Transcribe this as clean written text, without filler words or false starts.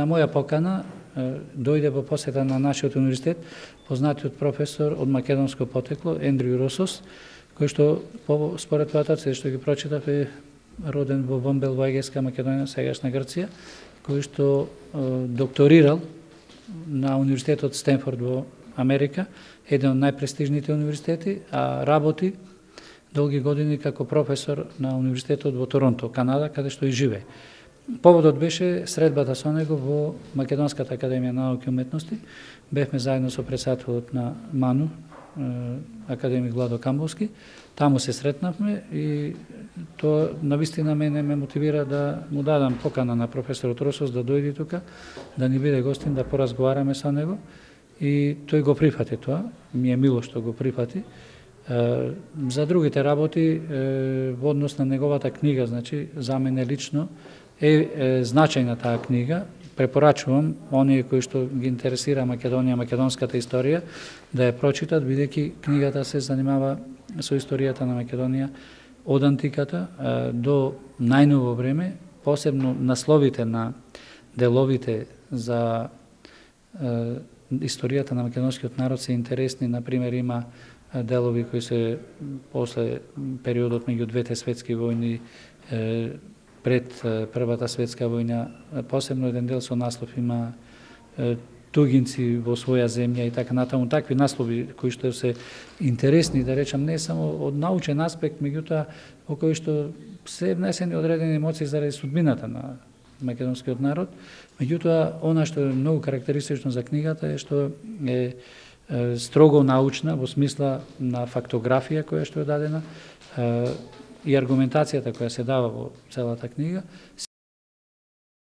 На моја покана дојде во посета на нашиот универзитет познатиот професор од македонско потекло Ендрю Росос, кој што според потоците што ги прочитав е роден во Вомбел во Егејска Македонија, сегашна Грција, кој што докторирал на универзитетот Стенфорд во Америка, еден од најпрестижните универзитети, а работи долги години како професор на универзитетот во Торонто, Канада, каде што и живее. Поводот беше средбата со него во Македонската академија на науки и уметности. Бевме заедно со председателот на МАНУ, академик Владо Камбовски. Таму се сретнавме и тоа навистина мене ме мотивира да му дадам покана на професорот Росос да дојде тука, да ни биде гостин, да поразговараме со него. И тој го прифати тоа, ми е мило што го прифати. За другите работи во однос на неговата книга, значи за мене лично е значајна таа книга. Препорачувам оние кои што ги интересира Македонија, македонската историја, да ја прочитат, бидејќи книгата се занимава со историјата на Македонија од антиката до најново време, посебно насловите на деловите за историјата на македонскиот народ се интересни. Например, има делови кои се после периодот меѓу двете светски војни, пред Првата светска војна, посебно еден дел со наслов има Тугинци во своја земја и така натаму, такви наслови кои што се интересни, да речам, не само од научен аспект, меѓутоа во кои што се внесени одредени емоции заради судбината на македонскиот народ. Меѓутоа, она што е многу карактеристично за книгата е што е строго научна во смисла на фактографија која што е дадена и аргументацијата која се дава во целата книга